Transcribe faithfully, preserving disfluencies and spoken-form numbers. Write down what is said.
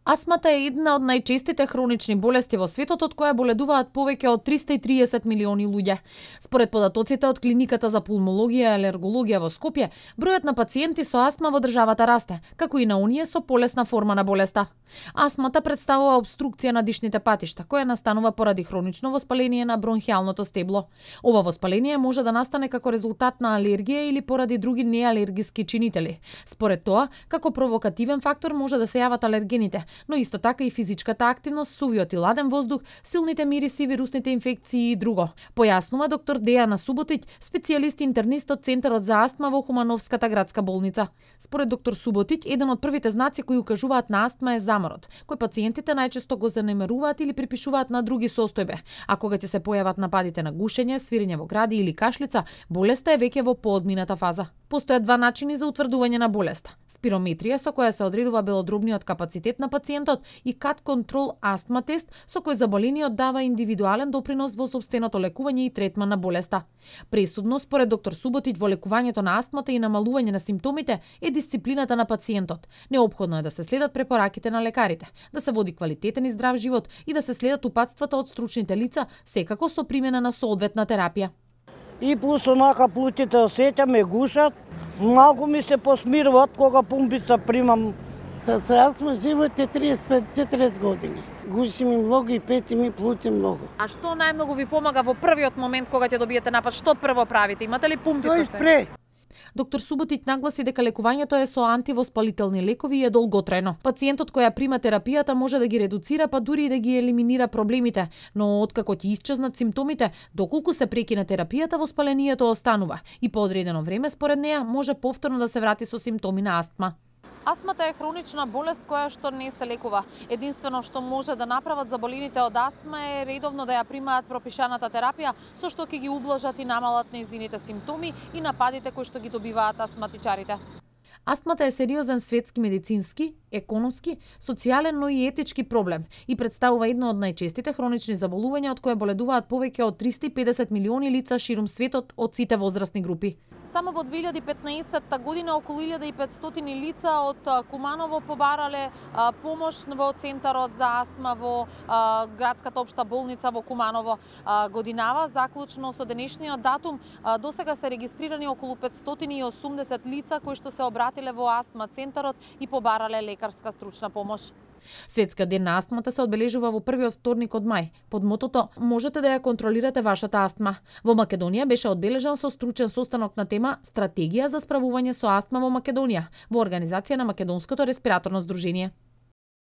Астмата е една од најчестите хронични болести во светот, од која боледуваат повеќе од триста и триесет милиони луѓе. Според податоците од Клиниката за пулмологија и алергологија во Скопје, бројот на пациенти со астма во државата расте, како и на оние со полесна форма на болеста. Астмата представува обструкција на дишните патишта, која настанува поради хронично воспаление на бронхијалното стебло. Ова воспаление може да настане како резултат на алергија или поради други неалергиски чинители. Според тоа, како провокативен фактор може да се јават алергените, но исто така и физичката активност, сувиот и ладен воздух, силните мириси, вирусните инфекции и друго. Појаснува доктор Дејана Суботиќ, специјалист интернист од Центарот за астма во Хумановската градска болница. Според доктор Суботиќ, еден од првите знаци кои укажуваат на астма е заморот, кој пациентите најчесто го занемеруваат или припишуваат на други состојбе. А кога ќе се појават нападите на гушење, свирење во гради или кашлица, болеста е веќе во поодмината фаза. Постојат два начини за утврдување на болеста: спирометрија, со која се одредува белодробниот капацитет на пациентот, и кат контрол астма тест, со кој заболениот дава индивидуален допринос во сопственото лекување и третман на болеста. Пресудно, според доктор Суботиќ, во лекувањето на астмата и намалување на симптомите е дисциплината на пациентот. Неопходно е да се следат препораките на лекарите, да се води квалитетен и здрав живот и да се следат упатствата од стручните лица, секако со примена на соодветна терапија. И плюс онака плутите осеќам, ме гушат, малку ми се посмируват кога пумпица примам. Та со астма живот е триесет и пет до четиридесет години. Гуши ми многу и печи ми, плути многу. А што најмногу ви помага во првиот момент кога ќе добиете напад? Што прво правите? Имате ли пумпица? Тој спре. Доктор Суботиќ нагласи дека лекувањето е со антивоспалителни лекови и е долготрајно. Пациентот која прима терапијата може да ги редуцира, па дури и да ги елиминира проблемите, но откако ќе исчезнат симптомите, доколку се прекине терапијата, воспалението останува и по одредено време според неа може повторно да се врати со симптоми на астма. Астмата е хронична болест која што не се лекува. Единствено што може да направат заболените од астма е редовно да ја примаат пропишаната терапија, со што ќе ги ублажат и намалат нејзините симптоми и нападите кои што ги добиваат астматичарите. Астмата е сериозен светски медицински, економски, социјален, но и етички проблем и представува едно од најчестите хронични заболувања од кои боледуваат повеќе од триста и педесет милиони лица ширум светот од сите возрастни групи. Само во две илјади и петнаесетта година околу илјада и петстотини лица од Куманово побарале а, помош во Центарот за астма во а, градската општа болница во Куманово. А, годинава, заклучно со денешниот датум, а, досега се регистрирани околу петстотини и осумдесет лица кои што се обратиле во астма центарот и побарале лекарска стручна помош. Светскиот ден на астмата се одбележува во првиот вторник од мај, под мотото "Можете да ја контролирате вашата астма". Во Македонија беше одбележан со стручен состанок на тема "Стратегија за справување со астма во Македонија" во организација на Македонското респираторно здружение.